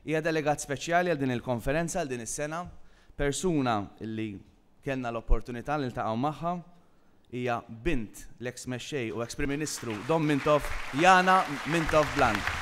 Hija delegat speċjali għal din il-konferenza għal din is-sena, persuna li kellna l-opportunità niltaqgħu magħha, hija bint l-eks mexxej u eks Prim Ministru Dom Mintoff, Yana Mintoff Bland.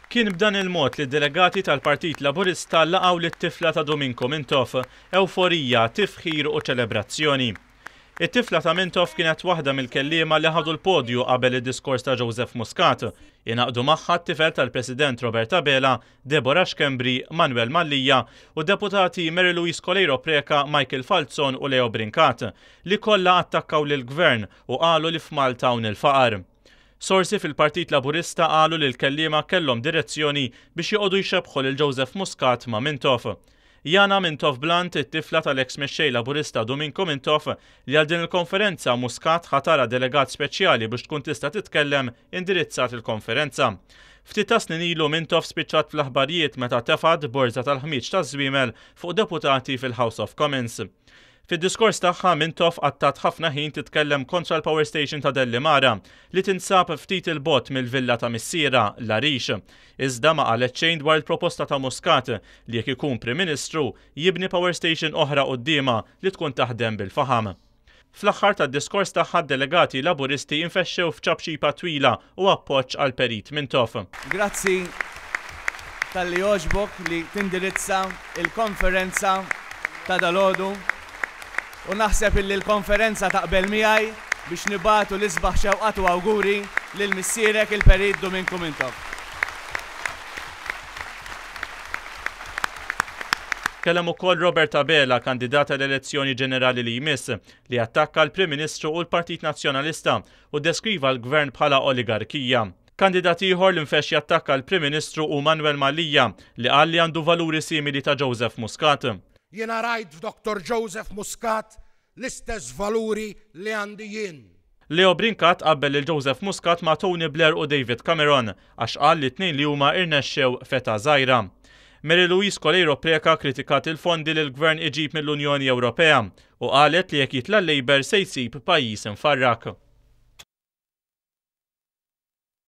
Kien b'dan il-mod li d-delegati tal-Partit Laburista laqgħu lit-tifla ta' Duminku Mintoff, ewforija, tifħir u ċelebrazzjoni. It-tifla ta' Mintoff kienet waħda mill-kelliema li ħadu l-podju qabel id-diskors ta' Joseph Muscat. Ingħaqdu magħha t-tifel tal-President Robert Abela, Deborah Schembri, Manuel Mallia u d-deputati Mary Louise Coleiro Preca, Michael Falzon u Leo Brincat, li kollha attakkaw lill-Gvern u qalu li f'Malta hawn il-faqar. Sorsi fil-Partit Laburista qalu li l-kelliema kellhom direzzjoni biex joqogħdu jxebbħu lil Joseph Muscat ma' Mintoff. Yana Mintoff Blunt, it-tifla tal-eks mexxej Laburista Duminku Mintoff, li għal din il-konferenza Muscat ħatarha delegat speċjali biex tkun tista' titkellem, indirizzat il-konferenza. Ftit tas-snin ilu Mintoff spiċċat fl-aħbarijiet meta tefgħet borża tal-ħmieġ taż-żwiemel fuq deputati fil-House of Commons. Fid-diskors tagħha, Mintoff qattat ħafna ħin titkellem kontra l-power station ta' Dellimara, li tinsab ftit 'il bogħod mill-villa ta' missierha, l-Għarix. Iżda ma qalet xejn dwar il-proposta ta' Muscat li jekk ikun Prim Ministru, jibni power station oħra quddiemha li tkun taħdem bil-faħam. Fl-aħħar tad-diskors tagħha d-delegati Laburisti infexxew f'ċapċipa twila u appoġġ għall-Perit Mintoff. Grazzi talli għoġbok li tindirizza l-konferenza ta' dalgħodu u naħseb illi l-konferenza taqbel miegħi biex nibagħtu l-isbaħ xewqat u awguri lil missierek il-Perit Duminku Mintoff. Tkellem ukoll Robert Abela, kandidat għall-elezzjoni ġenerali li jmiss, li attakka l-Prim Ministru u l-Partit Nazzjonalista u ddeskriva l-Gvern bħala oligarkija. Kandidat ieħor li nfexx jattakka l-Prim Ministru hu Manuel Mallia, li qal li għandu valuri simili ta' Joseph Muscat. Jiena rajt f'Dottor Joseph Muscat l-istess valuri li għandi jien. Leo Brincat qabbel lil Joseph Muscat ma' Tony Blair u David Cameron għax qal li t-tnejn li huma irnexxew f'età żgħira. Mary Louise Coleiro Preca kkritikat il-fondi li l-Gvern iġib mill-Unjoni Ewropea u qalet li jekk jitla' l-Labour se jsib pajjiż imfarrak.